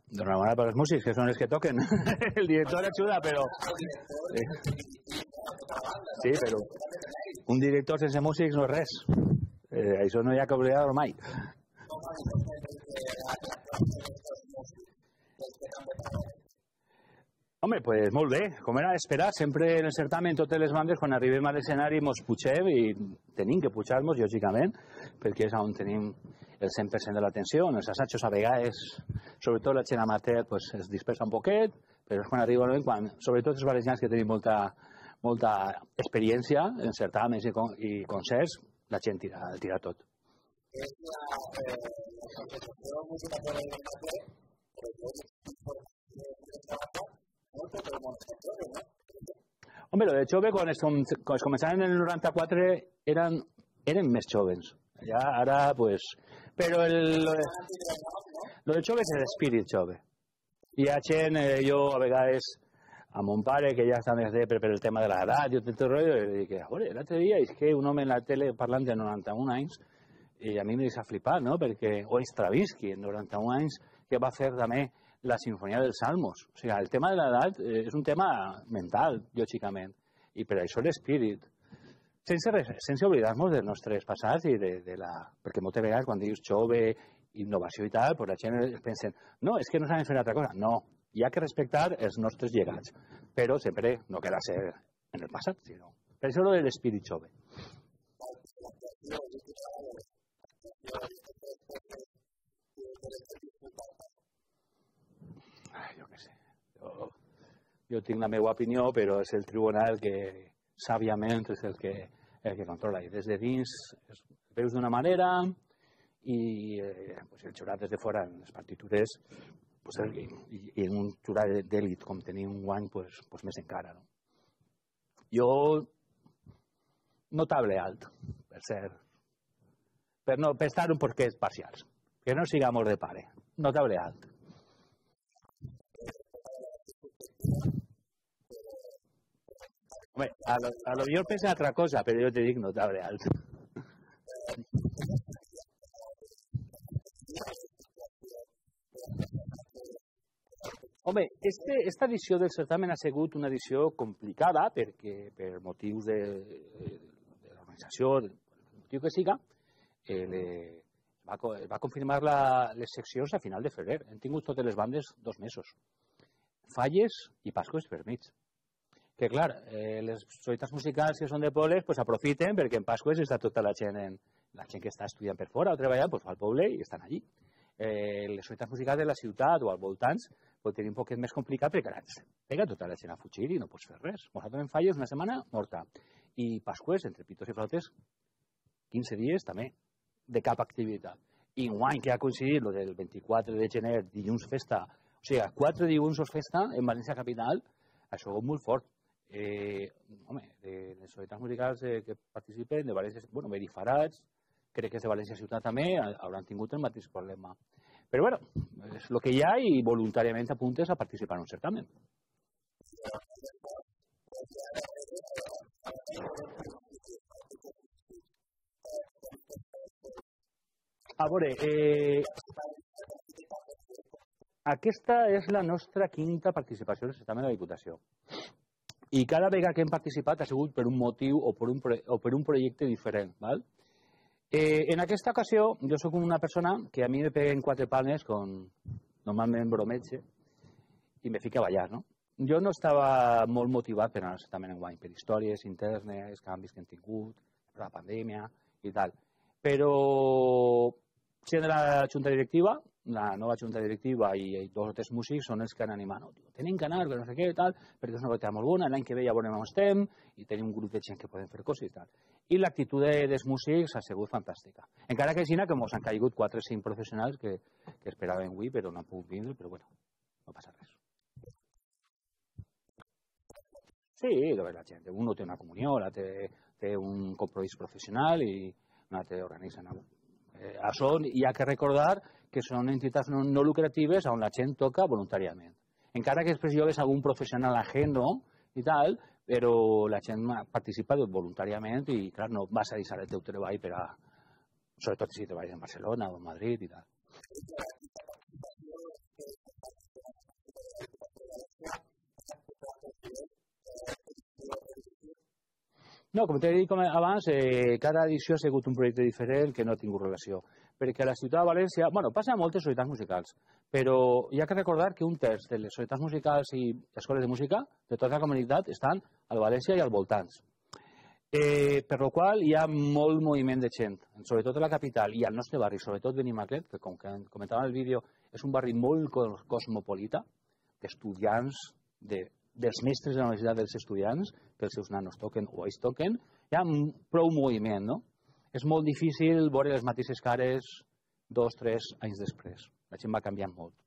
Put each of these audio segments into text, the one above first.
D'enhorabona per els músics, que són els que toquen. El director ajuda, però... Sí, però un director sense músics no és res. Això no hi ha que oblidar-ho mai. Home, pues molt bé. Com era d'esperar, sempre en el certamen totes les bandes, quan arribem a l'escenari, ens pugem i tenim que pujar-nos, lògicament, perquè és on tenim el 100% de l'atenció. En els assajos a vegades, sobretot la gent amateur, pues, es dispersa un poquet, però és quan arriba el moment, quan, sobretot els valencians que tenim molta experiència en certaments i concerts, la gent tira tot. És la sensació música per l'amateur, Home, lo de Chove, quan es començaven en el 94, eren més jóvens. Ja, ara, pues... Però lo de Chove és l'espírit Chove. Hi ha gent, jo a vegades, a mon pare, que ja està més per el tema de l'edat i tot el rotllo, i dic, a veure, l'altre dia és que un home en la tele parlant de 91 anys, i a mi me deixa flipar, no? Perquè, o Stravinsky, en 91 anys, que va fer també la Sinfonia dels Salmos. O sigui, el tema de l'edat és un tema mental, lògicament, i per això l'espírit. Sense oblidar-nos dels nostres passats i de la... Perquè moltes vegades quan dius jove, innovació i tal, pues la gent pensa, no, és que no saben fer una altra cosa. No, hi ha que respectar els nostres llegats, però sempre no queda ser en el passat, sinó... Per això de l'espírit jove. Jo què sé. Jo tinc la meva opinió, però és el tribunal que sàviament és el que controla. I des de dins es veus d'una manera i el jurat des de fora en les partitures i en un jurat d'èlit com tenim un guany més encara. Jo notable alt, per ser per estar un porquès parcials, que no sigamos de pare, notable alt. Home, a lo millor pensa altra cosa, però jo te dic notable alt. Home, esta edició del certamen ha sigut una edició complicada perquè per motius de l'organització, del motiu que siga, va confirmar les seccions a final de febrer. Hem tingut totes les bandes 2 mesos. Falles i Pasqües per mig. Que, clar, les societats musicals que són de pobles aprofiten perquè en Pasqües està tota la gent que està estudiant per fora o treballant, fa el poble i estan allí. Les societats musicals de la ciutat o als voltants pot tenir un poquet més complicat perquè ara pega tota la gent a fugir i no pots fer res. Nosaltres en Falles una setmana morta. I Pasqües, entre pitos i flautes, 15 dies també, de cap activitat. I guany que ha coincidit el del 24 de gener, dilluns festa, o sigui, 4 dilluns festa en València capital, això és molt fort. Home, de les societats musicals que participen, de València, bueno, Verifarats, crec que és de València ciutat també, hauran tingut el mateix problema. Però, bueno, és el que hi ha i voluntàriament apuntes a participar en un certamen. A veure, aquesta és la nostra 5a participació en el certamen de la Diputació. I cada vegada que hem participat ha sigut per un motiu o per un projecte diferent. En aquesta ocasió, jo soc una persona que a mi me peguen 4 palmes, normalment brometge, i me fica a ballar, no? Jo no estava molt motivat per anar al certamen enguany, per històries internes, canvis que hem tingut, per la pandèmia i tal. Però, sent de la junta directiva, la nova junta directiva i 2 o 3 músics són els que han animat. Tenim que anar, no sé què i tal, perquè és una activitat molt bona, l'any que ve ja veurem on estem, i tenim un grup de gent que podem fer coses i tal. I l'actitud dels músics ha sigut fantàstica. Encara que així que ens han caigut 4 o 5 professionals que esperaven avui, però no han pogut vindre, però bueno, no passa res. Sí, la gent. Un té una comunió, l'altre té un compromís professional i un altre organitza. Això hi ha que recordar que són entitats no lucratives on la gent toca voluntàriament. Encara que després llogues algun professional ajeno i tal, però la gent participa voluntàriament i, clar, no vas a deixar el teu treball per a... Sobretot si treballes en Barcelona o en Madrid i tal. No, com t'he dit abans, cada edició ha sigut un projecte diferent que no ha tingut relació. Perquè a la ciutat de València, bueno, passa a moltes societats musicals, però hi ha que recordar que un terç de les societats musicals i escoles de música de tota la comunitat estan a València i als voltants. Per la qual hi ha molt moviment de gent, sobretot a la capital i al nostre barri, sobretot Benimaclet, que com que comentava en el vídeo, és un barri molt cosmopolita, d'estudiants, dels mestres de la universitat dels estudiants, que els seus nanos toquen o ells toquen, hi ha prou moviment, no? És molt difícil veure les mateixes cares 2 o 3 anys després. La gent va canviant molt.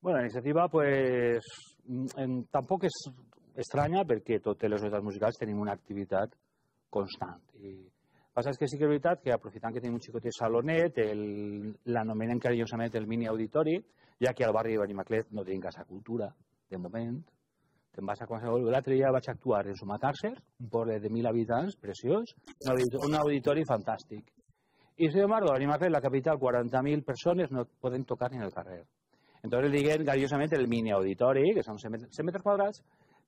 Bueno, la iniciativa pues, tampoc és estranya perquè totes les societats musicals tenim una activitat constant. I el que passa és que sí que és veritat que aprofitant que tenim un xicotet salonet, l'anomenen carinyosament el mini auditori, ja que al barri de Benimaclet no tenim casa cultura, de moment. Te'n vas a qualsevol... L'altre dia vaig actuar en Sumacàrcer, un poble de 1.000 habitants, preciós, un auditori fantàstic. I sin embargo, a Benimaclet, la capital, 40.000 persones no poden tocar ni en el carrer. Entonces diguen cariñosamente el mini auditori, que són 100 metres quadrats,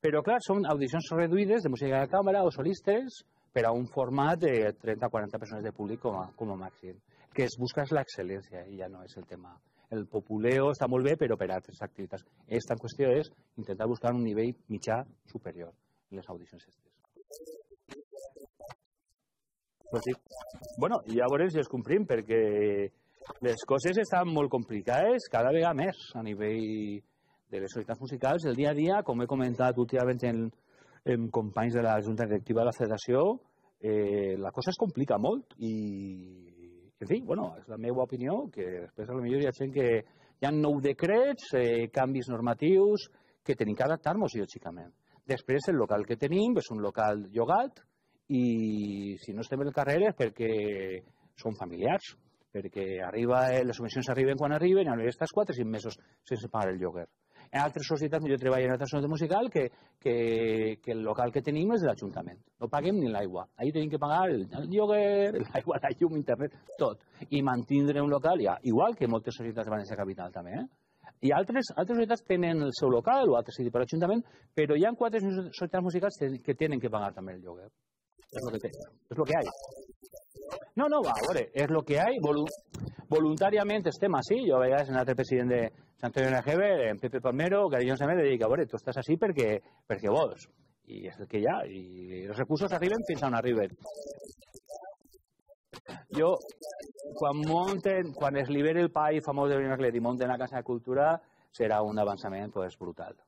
però clar, són audicions reduïdes de música de càmera o solistes per a un format de 30-40 persones de públic com a màxim. El que es busca és l'excel·lència i ja no és el tema. El populeo està molt bé, però per a altres activitats. Esta qüestió és intentar buscar un nivell mitjà superior en les audicions aquestes. Pues sí. Bueno, i llavors ja es comprim perquè les coses estan molt complicades cada vegada més a nivell de les societats musicals. El dia a dia, com he comentat últimament amb companys de la Junta Directiva de la Federació, la cosa es complica molt i, en fi, bueno, és la meva opinió, que després a lo millor hi ha gent que hi ha nou decrets, canvis normatius, que tenim que adaptar-nos, lògicament. Després, el local que tenim és un local llogat i si no estem en el carrer és perquè són familiars, perquè les subvencions arriben quan arriben i estàs 4 o 5 mesos sense pagar el lloguer. En altres societats, jo treballo en altres societats musical, que el local que tenim és de l'Ajuntament. No paguem ni l'aigua. Ahí tenim que pagar el lloguer, l'aigua, la llum, internet, tot. I mantindre un local, ja, igual que moltes societats de València Capital també. I altres societats tenen el seu local, o altres per l'Ajuntament, però hi ha 4 societats musicals que tenen que pagar també el lloguer. És lo que hay. No, a veure, és el que hay. Voluntàriament estem així. Jo a vegades en l'altre president de Sant Antoni NGB, en Pepe Palmero, que jo també li dic, a veure, tu estàs així perquè vols. I és el que hi ha. I els recursos arriben fins on arriben. Jo, quan es liberi el PAI famós de Benimaclet i munten la Casa de Cultura, serà un avançament brutal.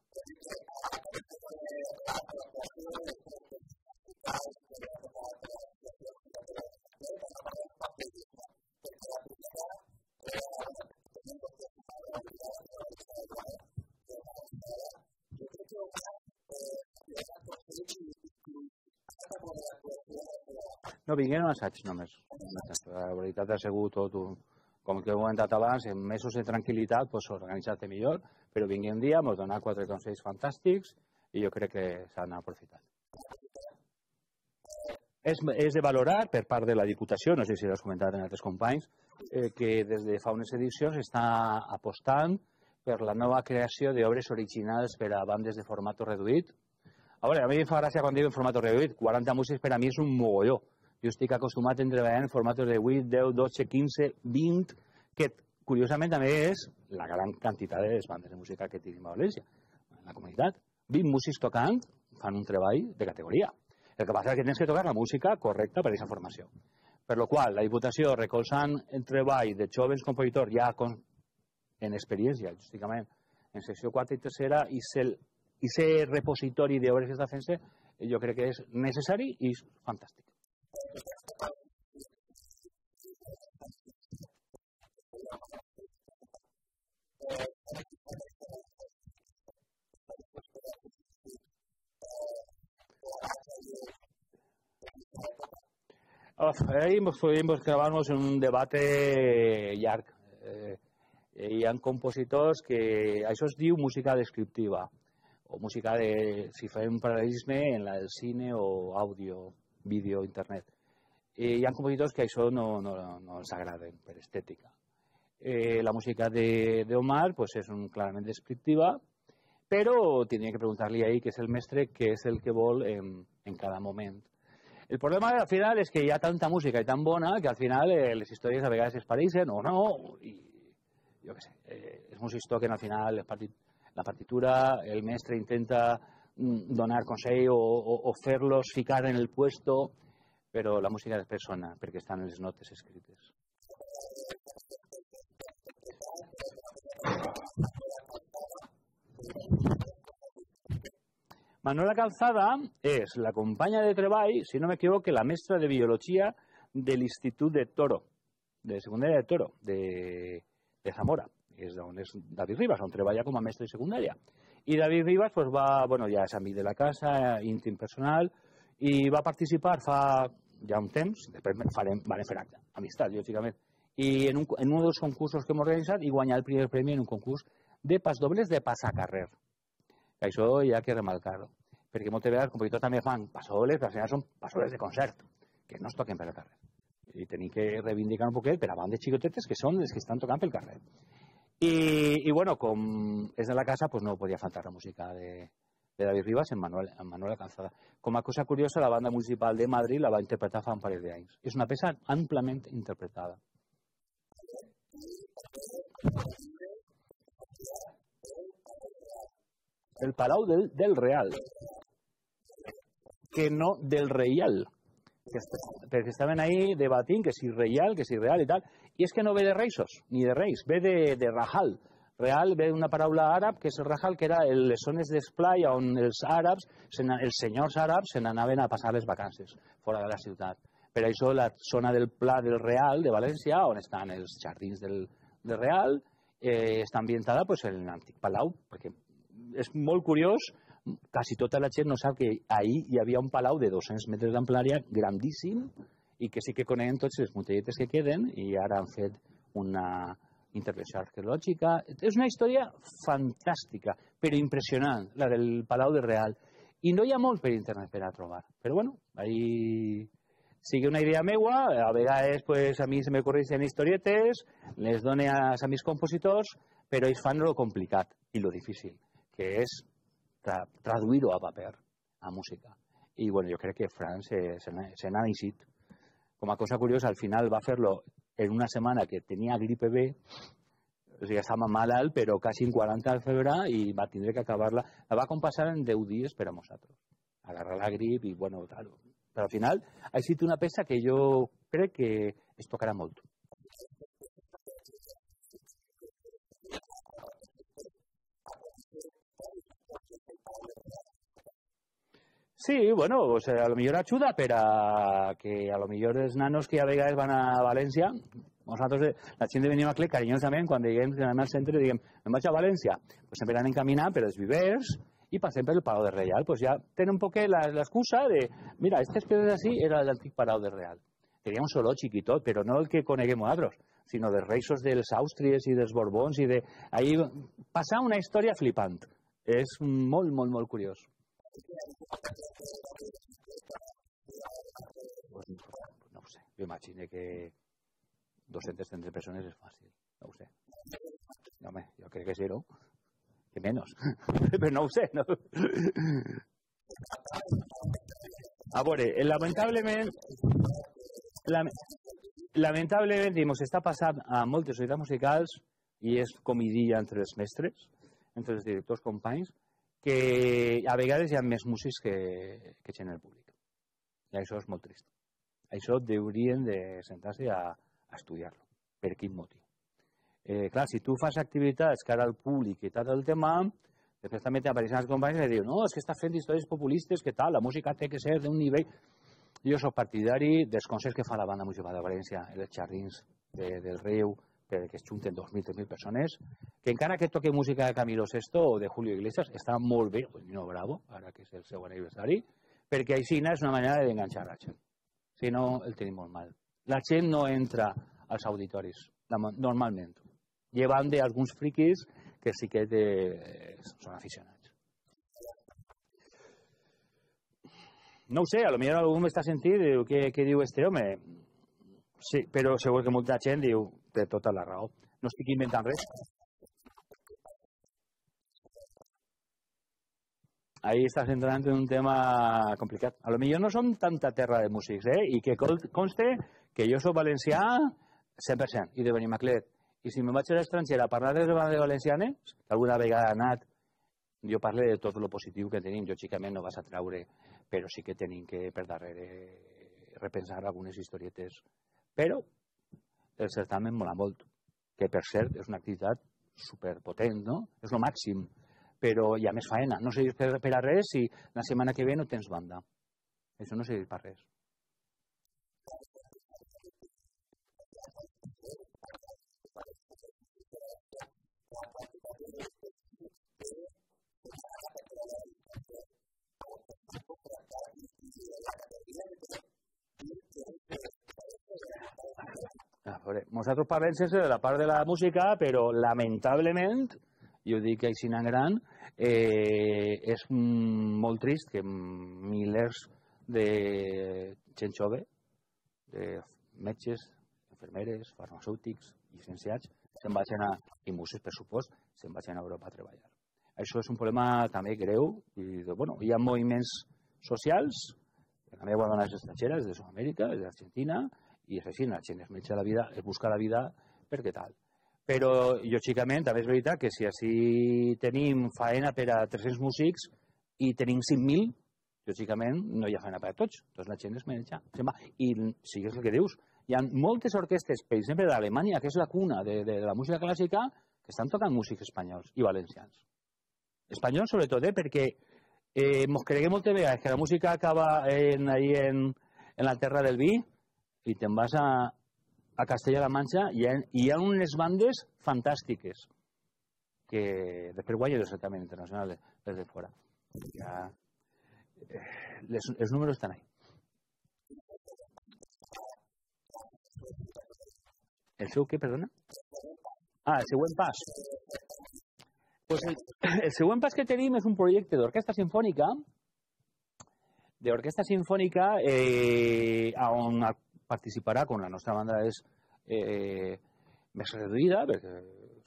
No, vingueren a assaig només. La veritat ha sigut tot un... Com que he comentat abans, en mesos de tranquil·litat, pues, organitzar-te millor, però vingui un dia, ens donar 4 consells fantàstics i jo crec que s'han aprofitat. És de valorar per part de la Diputació, no sé si l'has comentat en altres companys, que des de fa unes edicions està apostant per la nova creació d'obres originals per a bandes de format reduït. A veure, a mi em fa gràcia quan dic en format reduït, 40 músics per a mi és un mogolló. Jo estic acostumat a treballar en formats de 8, 10, 12, 15, 20, que curiosament també és la gran quantitat de les bandes de música que tenim a València, en la comunitat. 20 músics tocant fan un treball de categoria. El que passa és que tens que tocar la música correcta per a aquesta formació. Per la qual la Diputació, recolzant el treball de joves compositors ja en experiència, justament en secció 4 i tercera, i aquest repositori d'obres que està fent-se, jo crec que és necessari i és fantàstic. Ahí podríamos clavarnos en un debate llarg. Hi ha compositors que això es diu música descriptiva o música de, si fem un paral·lelisme, en la del cine o àudio, vídeo, internet. Hi ha compositors que això no els agraden per estètica. La música d'Omar pues, és clarament descriptiva, però tindria que preguntar-li ahir, que és el mestre, què és el que vol en cada moment. El problema al final és que hi ha tanta música i tan bona que al final les històries a vegades es pareixen o no, i jo què sé, és un història que al final la partitura, el mestre intenta donar consell o fer-los ficar en el puesto, però la música és persona, perquè estan en les notes escrites. Manuela Calzada és la companya de treball, si no m'equivoco, la mestra de biologia de l'Institut de Toro, de secundària de Toro, de Zamora, que és on és David Rivas, on treballa com a mestre de secundària. I David Rivas pues, ja és amic de la casa, íntim personal, i va participar fa ja un temps, després van fer acte, amistat, lògicament, i en un dels concursos que hem organitzat i guanyar el primer premi en un concurs de pasdobles de passacarrer. Això hi ha que remarcar-ho, perquè moltes vegades els compositors també fan passadobles, però al final són passadobles de concert, que no es toquen per el carrer. I tenim que reivindicar un poquet per a bandes xicotetes que són les que estan tocant pel carrer. I bueno, com és de la casa, pues no podia faltar la música de David Rivas en Manuela Calzada. Com a cosa curiosa, la banda municipal de Madrid la va interpretar fa un parell d'anys. És una peça amplament interpretada. El Palau del Real, que no del Reial, perquè estaven ahí debatint que si Reial, que si Real i tal, i és que no ve de reisos, ni de reis, ve de Rahal. Real ve d'una paraula àrab, que és el Rahal, que era les zones d'esplai on els àrabs, els senyors àrabs, se n'anaven a passar les vacances fora de la ciutat. Per això la zona del Pla del Real de València, on estan els jardins del Real, està ambientada pues, en l'antic palau, perquè és molt curiós, quasi tota la gent no sap que ahir hi havia un palau de 200 metres d'amplària grandíssim i que sí que coneixen tots les mutelletes que queden i ara han fet una intervenció arqueològica. És una història fantàstica, però impressionant, la del Palau del Real. I no hi ha molt per internet per a trobar. Però bueno, ahí sigui una idea meua, a vegades pues, a mi se me correixen historietes, les dono a mis compositors, però ells fan lo complicat i lo difícil, que és traduir-ho a paper, a música. I bueno, jo crec que Fran se n'ha eixit. Com a cosa curiosa, al final va fer-lo en una setmana que tenia gripe B, o sigui, estava malalt, però quasi en 40 de febre i va tindre que acabar-la. La va compassar en 10 dies per a nosaltres. Agarrar la grip i, bueno, tal. Però al final ha estat una peça que jo crec que es tocarà molt. Sí, bueno, pues a lo millor ajuda per a que a lo millor els nanos que a vegades van a València, nosaltres, la gent venim aquí carinyosament, quan diguem que anem al centre, diguem, me'n vaig a València, pues sempre anem caminant per els vivers i passem per el Palau de Reial, pues ja tenen un poc l'excusa de, mira, aquestes pedres així era l'antic Palau de Real. tenia un soroig i tot, però no el que coneguem nosaltres, sinó dels reixos dels Àustries i dels Borbons i de... Ahí passa una història flipant. És molt, molt, molt curiós. Pues no ho sé. Jo imagino que 230 persones és fàcil. No ho sé. No, home, jo crec que sí, no? Que menys. Però no ho sé, no? A veure, lamentablement, està passant a moltes societats musicals i és comidia entre els mestres, entre els directors companys, que a vegades hi ha més músics que gent en el públic. I això és molt trist. Això haurien de sentar-se a estudiar-lo. Per quin motiu? Clar, si tu fas activitats cara al públic i tal el tema, després també t'apareixen els companys i diuen no, és que està fent històries populistes, que tal, la música té que ser d'un nivell... Jo soc partidari dels concerts que fa la banda municipal de València, els Jardins del Riu, que es junten 2.000, 3.000 persones, que encara que toque música de Camilo VI o de Julio Iglesias, està molt bé, no bravo, ara que és el seu aniversari, perquè així és una manera d'enganxar la gent. Si no, el tenim molt mal. La gent no entra als auditoris, normalment, llevant d'alguns friquis que sí que són aficionats. No ho sé, potser algú m'està sentint i diu, què diu este home? Sí, però segur que molta gent diu, té tota la raó. No estic inventant res. Ahí estàs entrant en un tema complicat. Potser no som tanta terra de músics, i que conste que jo soc valencià 100%, i de Benimaclet. I si me'n vaig a l'estranger a parlar de les bandes valencianes, que alguna vegada ha anat, jo parlo de tot el positiu que tenim. Lògicament no vas a traure, però sí que tenim que, per darrere, repensar algunes historietes. Però el certamen mola molt, que per cert és una activitat superpotent, no? És el màxim, però hi ha més faena. No serveix per a res si la setmana que ve no tens banda. Això no serveix per res. Nosaltres parlem sense de la part de la música, però lamentablement, i ho dic així en gran, és molt trist que milers de gent jove, de metges, infermeres, farmacèutics, llicenciats, i músics, per supost, se'n vagin a Europa a treballar. Això és un problema també greu. Hi ha moviments socials, que també ho donen les estrangeres, de Sud-amèrica, d'Argentina, i és així, la gent es menja la vida, es busca la vida perquè tal. Però, lògicament, també és veritat que si així tenim faena per a 300 músics i tenim 5.000, lògicament no hi ha faena per a tots. Doncs la gent es menja. I sí que és el que dius. Hi ha moltes orquestes, per exemple, d'Alemanya, que és la cuna de la música clàssica, que estan tocant músics espanyols i valencians. Espanyols, sobretot, perquè ens creguem moltes vegades que la música acaba en la terra del vi i te'n vas a Castella-La Manxa i hi ha unes bandes fantàstiques que després guanyen el certamen internacional des de fora. Els números estan ahí. El seu què, perdona? El següent pas. El següent pas que tenim és un projecte d'orquestra sinfònica on participarà, quan la nostra banda és més reduïda, perquè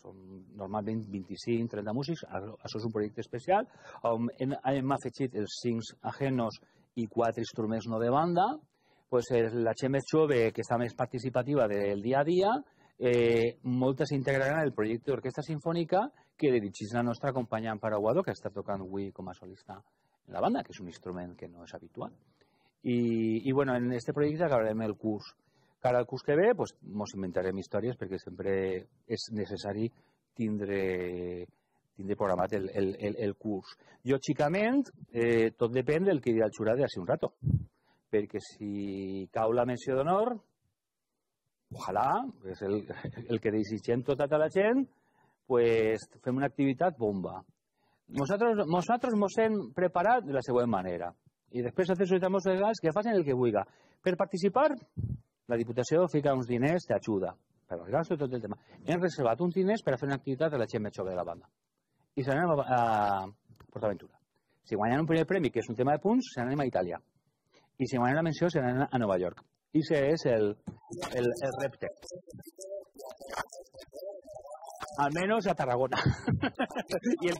són normalment 25-30 músics, això és un projecte especial, on hem afegit els 5 ajenos i 4 instruments no de banda, la gent més jove, que està més participativa del dia a dia, moltes s'integraran en el projecte d'orquestra sinfònica que dirigeix la nostra companya Amparo Aguado, que està tocant avui com a solista en la banda, que és un instrument que no és habitual. I en aquest projecte acabarem el curs. Cara al curs que ve, ens inventarem històries perquè sempre és necessari tindre programat el curs. Lògicament, tot depèn del que dirà el jurat d'ací un rato, perquè si cau la menció d'honor, ojalà, és el que desitgem tota la gent, fem una activitat bomba. Nosaltres ens hem preparat de la següent manera. I després altres societats musicals que facin el que vulgui. Per participar, la Diputació fica uns diners d'ajuda per als gastos i tot el tema. Hem reservat uns diners per a fer una activitat de la gent més jove de la banda. I se n'anem a PortAventura. Si guanyen un primer premi, que és un tema de punts, se n'anem a Itàlia. I si guanyen la menció, se n'anem a Nova York. I ese és el repte. Almenys a Tarragona. I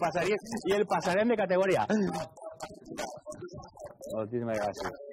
el passarem de categoria. Moltíssimes gràcies.